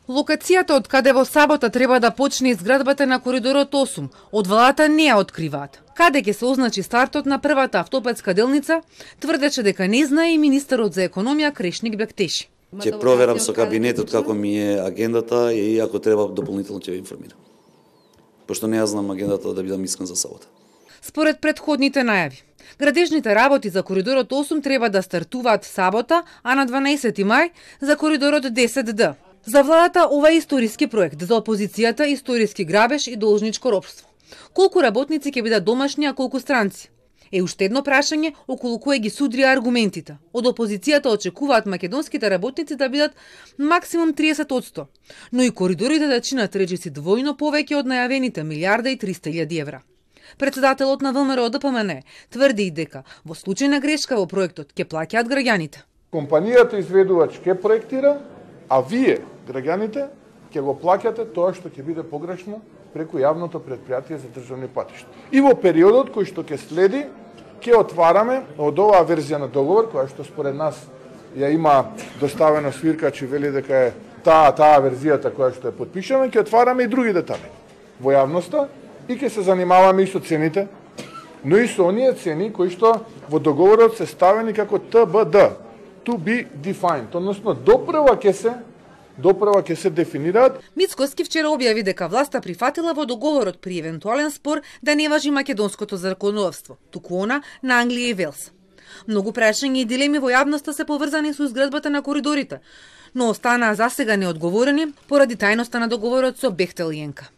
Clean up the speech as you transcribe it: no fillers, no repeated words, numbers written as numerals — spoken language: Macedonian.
Локацијата од каде во сабота треба да почне изградбата на коридорот 8, од владата не ја откриваат. Каде ќе се означи стартот на првата автопатска делница, тврдеше дека не знае и министерот за економија Крешник Бектеши. Ќе проверам со кабинетот како ми е агендата и ако треба дополнително ќе ве информирам. Пошто не ја знам агендата да бидам искрен за сабота. Според предходните најави, градежните работи за коридорот 8 треба да стартуваат сабота, а на 12 мај за коридорот 10Д. За владата ова е историски проект, за опозицијата историски грабеж и должничко ропство. Колку работници ќе бидат домашни, а колку странци? Е уште едно прашање околу кое ги судрија аргументите. Од опозицијата очекуваат македонските работници да бидат максимум 30%, но и коридорите да чинат речиси двојно повеќе од најавените 1.300.000 евра. Председателот на ВМРО ДПМН тврди и дека во случај на грешка во проектот ќе плаќаат граѓаните. Компанијата изведувач ќе проектира, а вие, граѓаните, ќе го плаќате тоа што ќе биде погрешно преку јавното претпријатие за државни патишта. И во периодот кој што ќе следи, ќе отвараме од оваа верзија на договор, која што според нас ја има доставено свиркач и вели дека е таа верзијата која што ја потпишаме, ќе отвараме и други детали во јавноста и ќе се занимаваме и со цените, но и со оние цени кои што во договорот се ставени како ТБД, to be defined, односно допрва ќе се дефинираат. Мицкоски вчера објави дека власта прифатила во договорот при евентуален спор да не важи македонското законодавство, туку она на Англија и Велс. Многу прашања и дилеми во јавноста се поврзани со изградбата на коридорите, но останаа засега неодговорени поради тајноста на договорот со Бехтел и ЕНКА.